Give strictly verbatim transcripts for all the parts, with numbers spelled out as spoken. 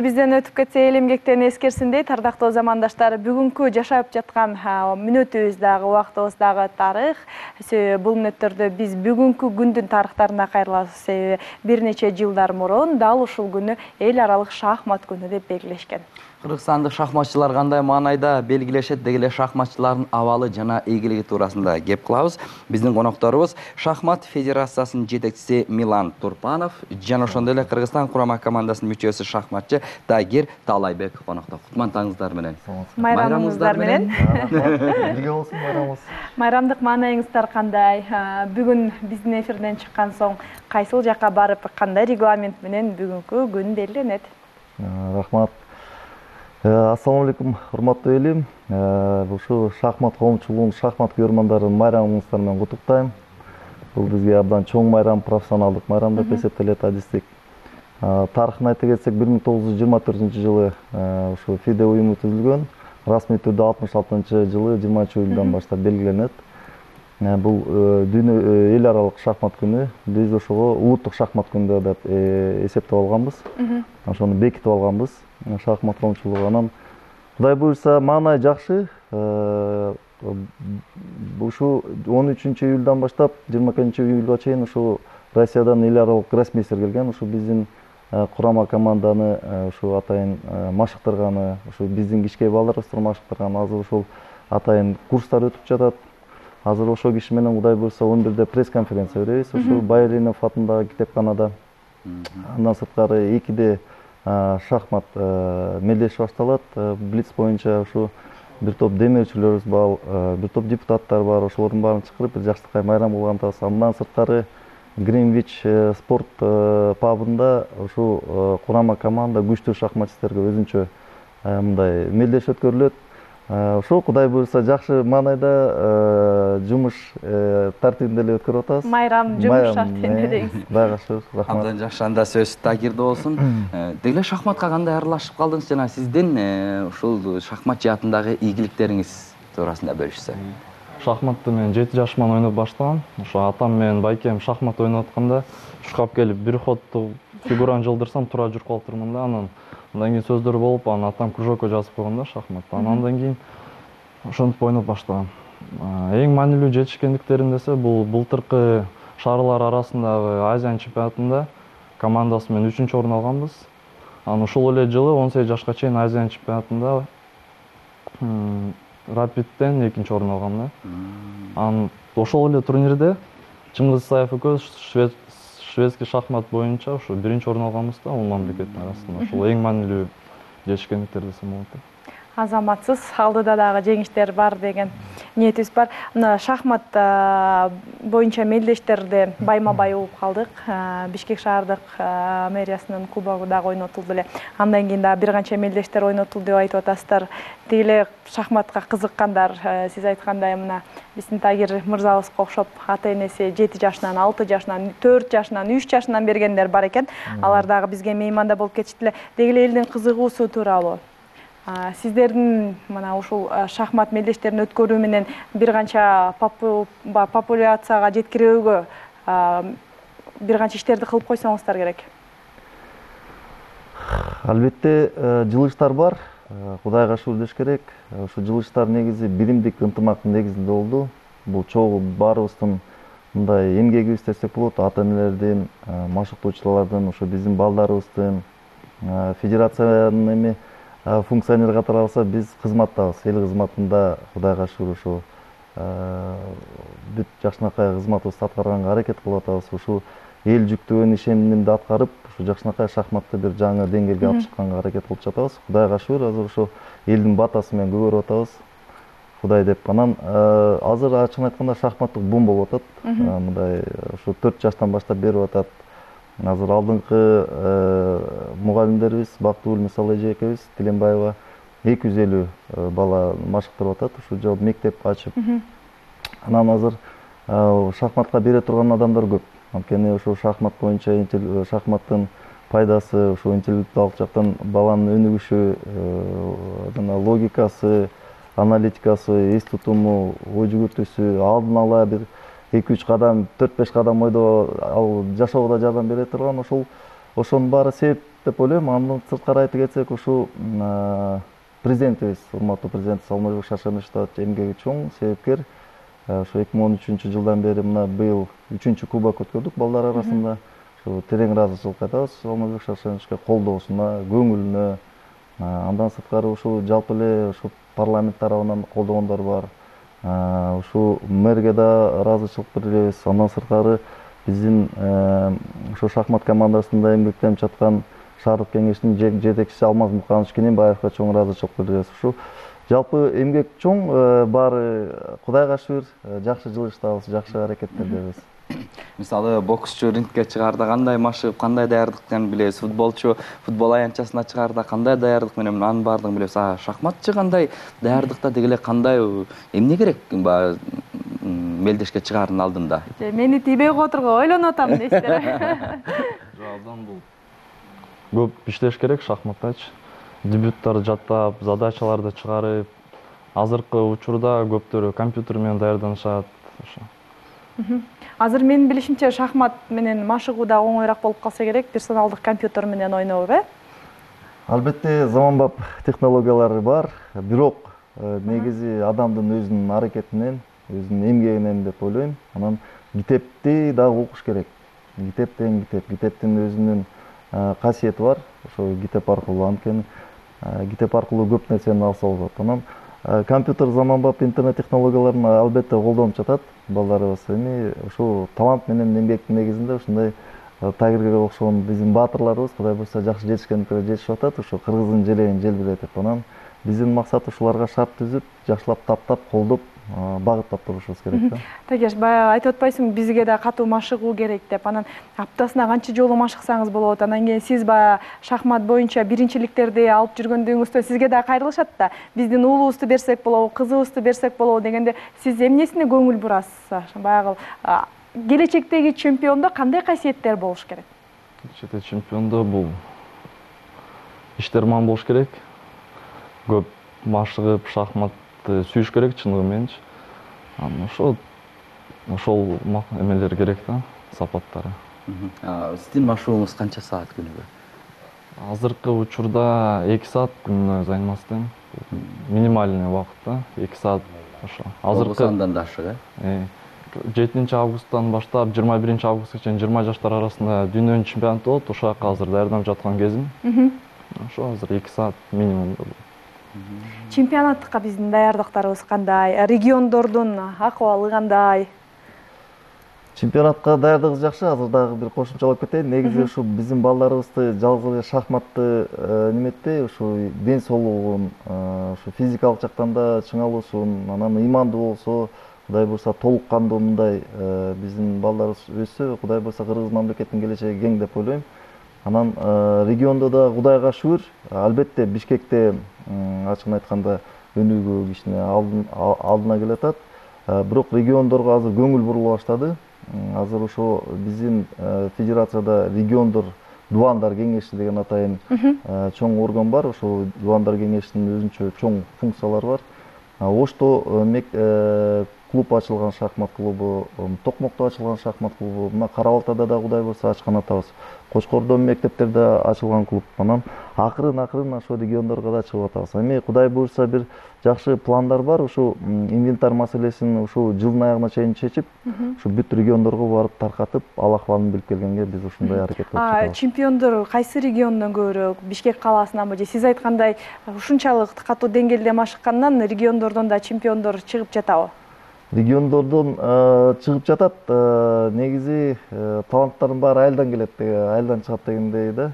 Бизден өтүп кетсе эл эмгектен эскерсиндей, тардактуу замандаштар, бүгүнкү жашап жаткан мүнөтүбүз дагы, убактыбыз дагы тарых. Бул мүнөттөрдө биз бүгүнкү күндүн тарыхтарына кайрылабыз. Себеби бир нече жылдар мурун дал ушул күнү эл аралык шахмат күнү деп белгилешкен. Кыргызстандык шахматчылар кандай маанайда белгилешет, деги эле шахматчылардын абалы жана ийгилиги туурасында кеп кылабыз. Биздин конокторубуз Шахмат федерациясынын жетекчиси Милан Турпанов жана ошондой эле Кыргызстан курама командасынын мүчөсү шахматчы Тагир Таалайбек конокто. Кутмандыгыңыздар менен. Майрамыңыздар менен. Бирге болсун майрамыбыз. Майрамдык маанайыңыздар кандай? Бүгүн биздин эфирден чыккан соң кайсыл жака барып, кандай регламент менен бүгүнкү күн белгиленет? Рахмат. Ассаламу алейкум, урматтуу элим. Ушу шахмат коомчулугунун, шахмат көрөрмандарын майрамыңыздар менен куттуктайм. Бул бизге абдан чоң майрам, профессионалдык майрам деп эсептелет, адистик. Тарыхын айта кетсек, бир миң тогуз жүз жыйырма төртүнчү жылы ушу ФИДЕ уюму түзүлгөн. Расмий түрдө алтымыш алтынчы жылы жыйырманчы июлдан баштап белгиленет. Бул дүйнө эл аралык шахмат күнү. Биз ошого улуттук шахмат күнү деп эсептеп алганбыз. Ошону бекитип алганбыз. Шахмат коомчулугу анан Кудай буйрса маанай жакшы. Ушу он үчүнчү июлдан баштап жыйырма экинчи июлга чейин ушу Россиядан эл аралык гроссмейстер келген. Ушу биздин курама команданы ушу атайын машыктырганы, ушу биздин кичкей балдарыбызды машыктырганы, азыр ушул атайын курстар өтүп жатат. Азыр ошол киши менен Кудай буйрса он бирде пресс-конференция беребиз. Ушу Байренов атындагы китепканада. Андан сырткары экиде шахмат мелдеш башталат. Блиц боюнча ушу бир топ демеүүчүлөрүбүз бар, бир топ депутаттар бар. Ошолордун баарын чакырып бир жакшыркай майрам кылган атабыз. Андан сырткары Гринвич спорт пабында ушу курама команда күчтүү шахматчыларга өзүнчө мындай мелдеш өткөрүлөт. Ошо Кудай буйрса жакшы маанайда жумуш тартибинде эле өткөрүп атабыз. Майрам жумуш тартибинде дейсиз. Кудайга шүгүр, рахмат. Абдан жакшы, анда сөз Тагирде болсун. Деги эле шахматка кандай аралашып калдыңыз жана сиздин ушул шахмат жаатындагы ийгиликтериңиз туурасында бөлүшсө. Шахматты мен жети жашыман ойноп баштагам. Ошо атам менен байкем шахмат ойноп атканда шукап келип бир ходду фигураны жылдырсам тура жүрүп калып турмун да. Анан андан кийин сөздөр болуп, анан атам кружокко жазып койгон да шахматты. Андан кийин ошентип ойноп баштагам. Эң маанилүү жетишкендиктерим десе, бул былтыркы шаарлар арасындагы Азия чемпионатында командасы менен үчүнчү орун алганбыз. Анан ушул эле жылы он сегиз жашка чейин Азия чемпионатында Рапидтен экинчи орун алгам да. Анан ошол эле турнирде Чыңгыз Исаев экөөбүз шведский шахмат боюнча ушу биринчи орун алганбыз да, ул мамлекеттин арасында. Ошол эң маанилүү жетишкендиктер десем болот. Азаматсыз, алдыда дагы жеңиштер бар деген ниетибиз бар. Мына шахмат боюнча мелдештерде байма-бай угуп калдык. Бишкек шаардык мэриясынын кубогу дагы ойнотулду эле. Андан кийин дагы бир канча мелдештер ойнотулду деп айтып атасыздар. Деги эле шахматка кызыккандар, сиз айткандай мына биздин Тагир мырзабызга окшоп ата-энеси жети жашынан, алты жашынан, төрт жашынан, үч жашынан бергендер бар экен. Алар дагы бизге мейманда болуп кетишти эле. Деги эле элдин кызыгуусу тууралуу. Сиздердин мына ушул шахмат мелдештерин өткөрүү менен бир канча популяцияга жеткирүүгө бир канча иштерди кылып койсоңуздар керек. Албетте жылыштар бар. Кудайга шүгүр деш керек. Ушу жылыштар негизи биримдик ынтымактын негизинде болду. Бул чогуу баарыбыздын мындай эмгегибиз десек болот. Ата-энелердин, машыктоочулардын, ушу биздин балдарыбыздын, федерациянын эми функционер катары алса биз кызматтабыз. Эл кызматында Кудайга шүгүр ушу бүт жакшынакай кызматыбызды аткарганга аракет кылып атабыз. Ушу эл жүктөгөн ишенимди аткарып, ушу жакшынакай шахматты бир жаңы деңгээлге алып чыкканга аракет кылып жатабыз. Кудайга шүгүр, азыр ушу элдин батасы менен көбөрүп атабыз. Кудай деп анан азыр ачыгын айтканда шахматтык бум болуп атат. Мындай ушу төрт жаштан баштап берип атат. Азыр алдыңкы мугалимдерибиз Бактыгүл мисалы эже экебиз, Тиленбаева эки жүз элүү бала машыктырып атат. Ушу жол мектеп ачып. Анан азыр шахматка бере турган адамдар көп. Анткени ушу шахмат боюнча шахматтын пайдасы, ушу интеллектуалдык жактан баланын өнүгүшү, жана логикасы, аналитикасы, эс тутуму, ой жүгүртүүсү, алдын ала бир эки үч кадам, төрт беш кадам ойдо жашоого да жардам бере турган ошол ошонун баары себеп деп ойлойм. Андан сырткары айтып кетсек, ушул президентибиз, урматтуу президентибиз Алмазбек Шаршенович эмгеги чоң, себепкер. Ошо эки миң он үчүнчү жылдан бери мына быйыл үчүнчү кубок өткөрдүк балдар арасында. Ошо терең ыраазычылык айтабыз Алмазбек Шаршеновичке колдоосуна, көңүлүнө. Андан сырткары ушул жалпы эле ушу парламент тарабынан колдогондор бар. Ушул мэрге да ыраазычылык билдиребиз. Андан сырткары биздин ошо шахмат командасында эмгектенип жаткан шаардык кеңештин жетекчиси Алмаз Муканович Кененбаевга чоң ыраазычылык билдиребиз. Ушул жалпы эмгек чоң, баары Кудайга шүгүр, жакшы жылыштабыз, жакшы аракеттердебиз. Мисалы боксчу рингке чыгаарда кандай машыгып, кандай даярдыктан билебиз, футболчу футбол аянтчасына чыгаарда кандай даярдык менен анын баардыгын билебиз. А шахматчы кандай даярдыкта деги эле кандай эмне керек баягы мелдешке чыгаардын алдында? Мени тийбей кое тургу ойлонуп атам дейсиздер. Жок, абдан бул көп иштеш керек шахматтачы. Дебюттарды жаттап, задачаларды чыгарып, азыркы учурда көптөрү компьютер менен даярданышат. Ошо. Азыр менин билишимче шахмат менен машыгуу да оңоюраак болуп калса керек, персоналдык компьютер менен ойноп, э? Албетте заманбап технологиялары бар, бирок негизи адамдын өзүнүн аракети менен, өзүнүн эмгегинен деп ойлойм. Анан китепти дагы окуш керек. Китеп тең китеп, китептин өзүнүн касиети бар. Ошо китеп аркылуу анткени китеп аркылуу көп нерсени алса болот. Анан компьютер заманбап интернет технологияларын албетте колдонуп жатат балдарыбыз. Эми ушул талант менен эмгектин негизинде ушундай Тайгерге окшогон биздин баатырларыбыз Кудай буйрса жакшы жетишкендикке жетишип атат. Ошо кыргыздын желегин желбиретип, анан биздин максат ушуларга шарт түзүп, жакшылап таптап, колдоп, багыттап турушубуз керек да. Тагеш, баягы айтып атпайсыңбы, бизге да катуу машыгуу керек деп. Анан аптасына канча жолу машыксаңыз болот. Анан кийин сиз баягы шахмат боюнча биринчиликтерди алып жүргөндүгүңүздө сизге да кайрылышат да. Биздин уулубузду берсек болобу, кызыбызды берсек болобу дегенде сиз эмнесине көңүл бурасыз? Баягы келечектеги чемпиондо кандай касиеттер болуш керек? Келечектеги чемпиондо бул иштерман болуш керек. Көп машыгып, шахматты сүйүш керек чындыгы мененчи. Анан ошол ошол эмелер керек да, сапаттары. Сиздин машыгууңуз канча саат күнүгө? Азыркы учурда эки саат күнүнө займастын. Минимальный убакыт да, эки саат ошо. Азыркы андан да ашык, э? жетинчи августтан баштап жыйырма биринчи августка чейин жыйырма жаштар арасында дүйнөнүн чемпионаты болот. Ошол жака азыр даярданып жаткан кезим. Ошо азыр эки саат минимум. Чемпионатка биздин даярдыктарыбыз кандай? Региондордун акыбалы кандай? Чемпионатка даярдыгыбыз жакшы. Азыр дагы бир кошумчалап кетейин. Негизи ушу биздин балдарыбызды жалгыз эле шахматты неметпей, ушу ден соолугун, ушу физикалык жактан да чыңалуусун, анан ыймандуу болсо, Кудай буйрса толук кандуу мындай биздин балдарыбыз өссө, Кудай буйрса Кыргыз мамлекетинин келечеги кең деп ойлойм. Анан региондо да Кудайга шүгүр, албетте Бишкекте ачыгын айтканда өнүгүү кичине алдына келатат. Бирок региондорго азыр көңүл бурула баштады. Азыр ошо биздин федерацияда региондор дубандар кеңеши деген атайын чоң орган бар. Ошол дубандар кеңешинин өзүнчө чоң функциялары бар. Ошто клуб ачылган, шахмат клубу, Токмокто ачылган шахмат клубу, мына Кара Балтада да Кудай буйрса ачкан атабыз. Кочкордо мектептерде ачылган клуб. Анан акырын-акырын ошо региондорго да чыгып атабыз. Эми Кудай буйрса бир жакшы пландар бар. Ушу инвентарь маселесин ушу жылдын аягына чейин чечип, ушу бүт региондорго барып таркатып, ал акыбалын билип келгенге биз ушундай аракет кылып жатабыз. Чемпиондор кайсы региондон көбүрөөк? Бишкек калаасынанбы же сиз айткандай ушунчалык катуу деңгээлде машыккандан региондордон да чемпиондор чыгып жатабы? Региондордон чыгып жатат. Негизи таланттардын баары айылдан келет, айылдан чыгат дегендей да.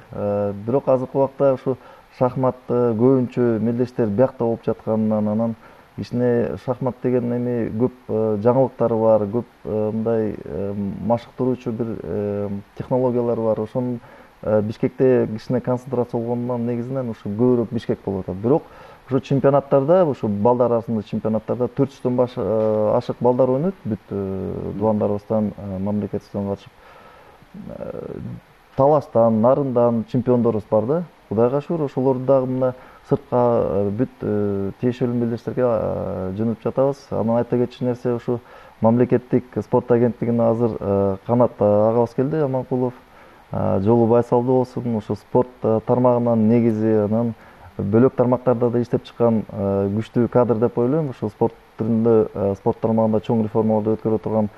Бирок азыркы убакта ушу шахмат көбүнчө мелдештер биякта болуп жатканынан, анан кичине шахмат деген эми көп жаңылыктары бар, көп мындай машыктыруучу бир технологиялар бар. Ошонун Бишкекте кичине концентрация болгондон негизинен ушу көбүрөөк Бишкек болуп атат. Бирок ушу чемпионаттарда, ушу балдар арасында чемпионаттарда төрт жүздөн баш ашык балдар ойнойт. Бүт дубандарыбыздан, мамлекетибизден катышып, Таластан, Нарындан чемпиондорубуз бар да. Кудайга шүгүр, ошолорду дагы мына сыртка бүт тиешелүү мелдештерге жөнөтүп жатабыз. Анан айта кетчү нерсе, ушу мамлекеттик спорт агенттигине азыр канат агабыз келди, Аманкулов. жолу байсалдуу болсун, ошо спорт тармагынан негизи анан бөлөк тармактарда да иштеп чыккан күчтүү кадр деп ойлойм. Ошо спорт түрүндө, спорт тармагында чоң реформаларды өткөрө турган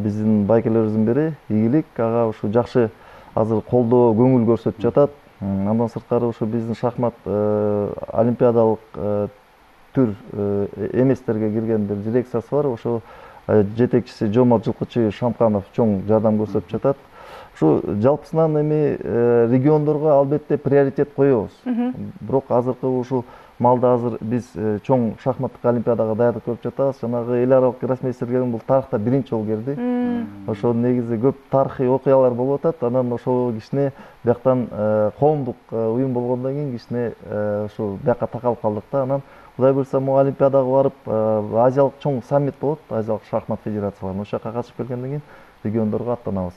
биздин байкелерибиздин бири Ийгилик ага ушу жакшы азыр колдоо, көңүл көрсөтүп жатат. Андан сырткары ушу биздин шахмат олимпиадалык түр эместерге кирген бир дирекциясы бар. Ошо жетекчиси Жомарт Жылкычы Шамканов чоң жардам көрсөтүп жатат. Ушу жалпысынан эми региондорго албетте приоритет коебуз. Бирок азыркы ушул маалда азыр биз чоң шахматтык олимпиадага даярдык көрүп жатабыз. Жанагы эл аралык гроссмейстер келген бул тарыхта биринчи жолу келди. Ошо негизи көп тарыхый окуялар болуп атат. Анан ошол кичине бияктан коомдук уюм болгондон кийин кичине ушу бияка такалып калдык да. Анан Кудай буйрса могу олимпиадага барып, азиялык чоң саммит болот, азиялык шахмат федерацияларынын. Ошол жака катышып келгенден кийин региондорго аттанабыз.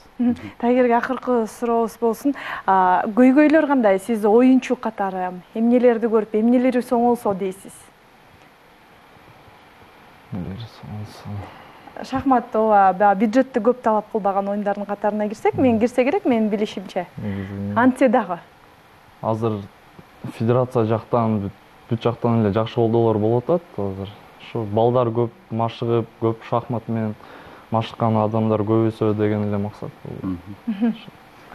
Тагирге акыркы сурообуз болсун. Көйгөйлөр кандай? Сиз оюнчу катары эмнелерди көрүп, эмнелери соңолсо дейсиз? Эмнелери соңолсо. Шахмат ооба бюджетти көп талап кылбаган оюндардын катарына кирсек, мен кирсе керек, менин билишимче. Антсе дагы. Азыр федерация жактан, бүт жактан эле жакшы колдоолор болуп атат. Азыр ушу балдар көп машыгып, көп шахмат менен машыккан адамдар көбөйсө деген эле максат.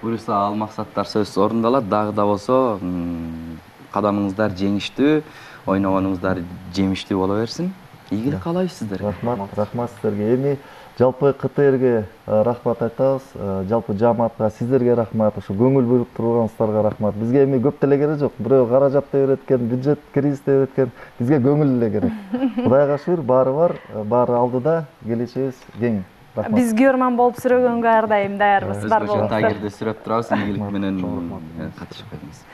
Буюрса ал максаттар сөзсүз орундалат. Дагы да болсо кадамыңыздар жеңиштүү, ойногонуңуздар жемиштүү боло берсин. Ийгилик каалайбыз сиздерге. Рахмат, рахмат сиздерге. Эми жалпы КТРге рахмат айтабыз. Жалпы жааматка сиздерге рахмат. Ошо көңүл буйруп тургансыздарга рахмат. Бизге эми көп деле керек жок. Бирөө каражат деп берет экен, бюджет кризис деп берет экен. Бизге көңүл эле керек. Кудайга шүгүр, баары бар, баары алдыда, келечегибиз кең. Рахмат. Биз көрман болуп сүрөгөнгө ар дайым даярбыз. Бар болуңуздар. Тагирди сүрөп турабыз. Ийгилик менен катышып келиңиз.